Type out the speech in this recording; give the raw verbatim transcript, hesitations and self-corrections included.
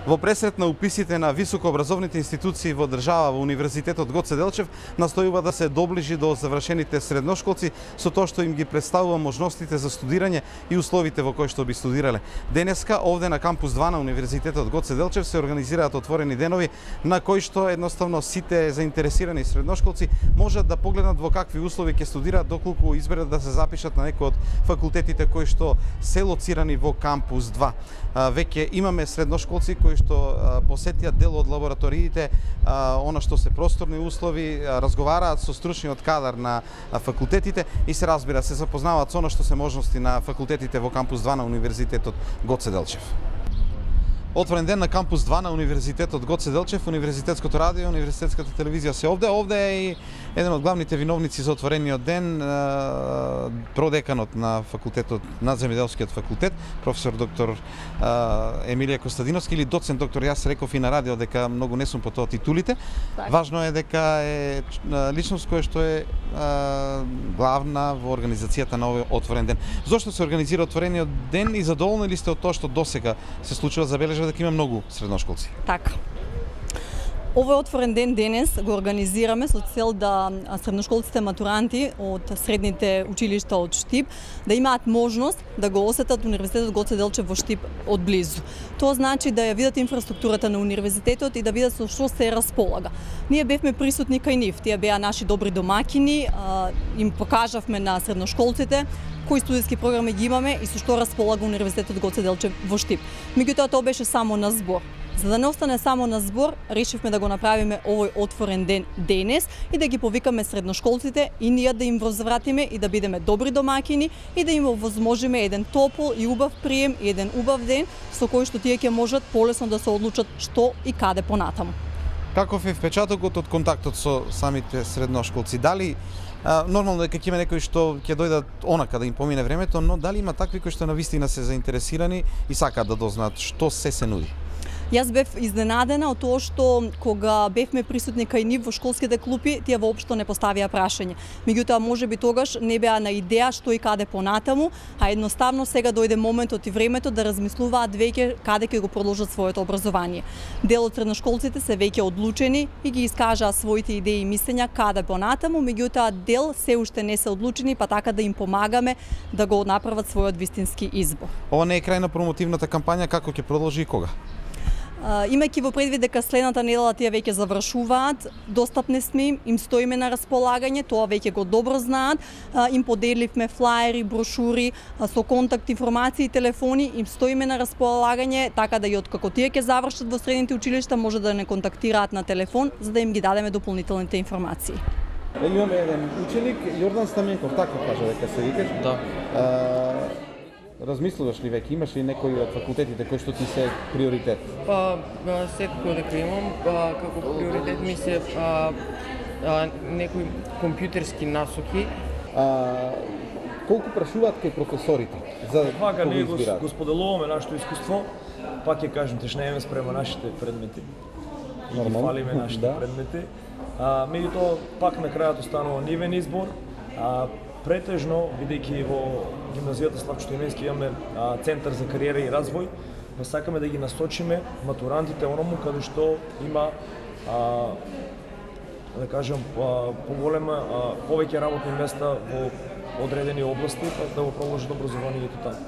Во пресрет на уписите на високообразовните институции во држава во Универзитетот Гоце Делчев настојува да се доближи до завршените средношколци со тоа што им ги представува можностите за студирање и условите во кои што би студирале. Денеска овде на кампус два на Универзитетот Гоце Делчев се организираат отворени денови на кои што едноставно сите заинтересирани средношколци можат да погледнат во какви услови ќе студираат доколку изберат да се запишат на некој од факултетите кои што се лоцирани во кампус два. Веќе имаме средношколци кои што посетија дел од лабораториите, она што се просторни услови, разговараат со стручниот кадар на факултетите и се разбира, се запознаваат со она што се можности на факултетите во кампус два на Универзитетот Гоце Делчев. Отворен ден на кампус два на Универзитетот Гоце Делчев, Универзитетското радио, Универзитетската телевизија се овде. Овде е и еден од главните виновници за отворениот ден, продеканот на факултетот, на земјоделскиот факултет, професор доктор Емилија Костадиновски или доцент доктор. Јас реков и на радио дека многу не сум по тоа титулите. Так. Важно е дека е личност која што е главна во организацијата на овој отворен ден. Зошто се организира отворениот ден и задоволни ли сте од тоа што досега се случува? Забележа дека има многу средношколци. Така. Овој отворен ден денес го организираме со цел да средношколците матуранти од средните училишта од Штип да имаат можност да го осетат Универзитетот Гоце Делчев во Штип од близу. Тоа значи да ја видат инфраструктурата на универзитетот и да видат со што се располага. Ние бевме присутни кај нив, тие беа наши добри домакини, им покажавме на средношколците кои студиски програми ги имаме и со што располага Универзитетот Гоце Делчев во Штип. Меѓутоа тоа беше само на збор. За да не остане само на збор, решивме да го направиме овој отворен ден денес и да ги повикаме средношколците и ние да им возвратиме и да бидеме добри домакини и да им овозможиме еден топол и убав прием и еден убав ден со кој што тие ќе можат полесно да се одлучат што и каде понатаму. Каков е впечатокот од контактот со самите средношколци? Дали А, нормално е дека ќе има некои што ќе дојдат онака да им помине времето, но дали има такви кои што навистина се заинтересирани и сакаат да дознаат што се се нуди? Јас бев изненадена од тоа што кога бевме присутни кај нив во школските клупи, тие воопшто не поставија прашање. Меѓутоа, можеби тогаш не беа на идеја што и каде понатаму, а едноставно сега дојде моментот и времето да размислуваат веќе каде ќе го продолжат своето образование. Дел од средношколците се веќе одлучени и ги искажаа своите идеи и мислења каде понатаму, меѓутоа дел се уште не се одлучени, па така да им помагаме да го направат својот вистински избор. Ова не е крај на промотивната кампања, како ќе продолжи и кога? Имајќи во предвид дека следната недела тие веќе завршуваат, достапни сме им, им стоиме на располагање, тоа веќе го добро знаат, им поделивме флаери, брошури со контакт информации и телефони, им стоиме на располагање, така да и откако тие ќе завршат во средните училишта може да не контактираат на телефон, за да им ги дадеме дополнителните информации. Имаме еден ученик, Јордан Стаменков, така кажа дека се викаш. Да. Размислуваш ли веќе, имаш ли некои од факултетите кои што ти се приоритет? Па, секако дека имам, па, како приоритет ми се а, а, некои компјутерски насоки. А, колку прашуваат кај професорите за Вака ние го, избираат? го споделуваме нашето искуство, пак ќе кажем, тешнееме спрема нашите предмети. И ги фалиме нашите да. предмети. А, меѓутоа, пак на крајот останува нивен избор. А, Претежно, бидејќи во гимназијата Славчо Стоименски имаме а, центар за кариера и развој, па сакаме да ги насочиме матурантите оному каде што има а, да кажем а, поголема а, повеќе работни места во одредени области, па да го продолжат образованието таму.